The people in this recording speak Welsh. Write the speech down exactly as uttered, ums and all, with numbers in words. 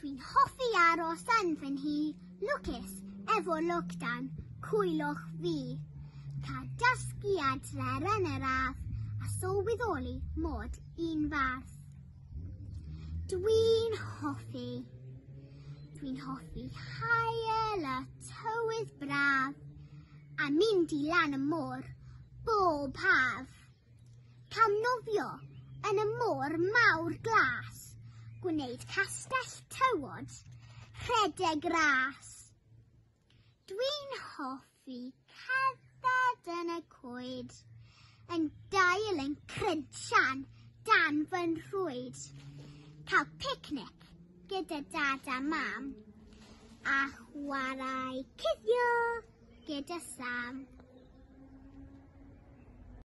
Dwi'n hoffi aros yn fy nhŷ, lwcus efo lockdown, coelwch fi. Cael dysgu adre yn yr ardd a sylweddoli mod i'n fardd. Dwi'n hoffi. Dwi'n hoffi haul y tywydd braf a mynd i lan y môr bob haf. Cael nofio yn y môr mawr glas, gwneud castell tywod, rhedeg ras. Dwi'n hoffi cerdded yn y coed, yn dail yn crunchian dan fy nrwyd. Cael picnic gyda dad a mam a chwarae cuddio gyda Sam.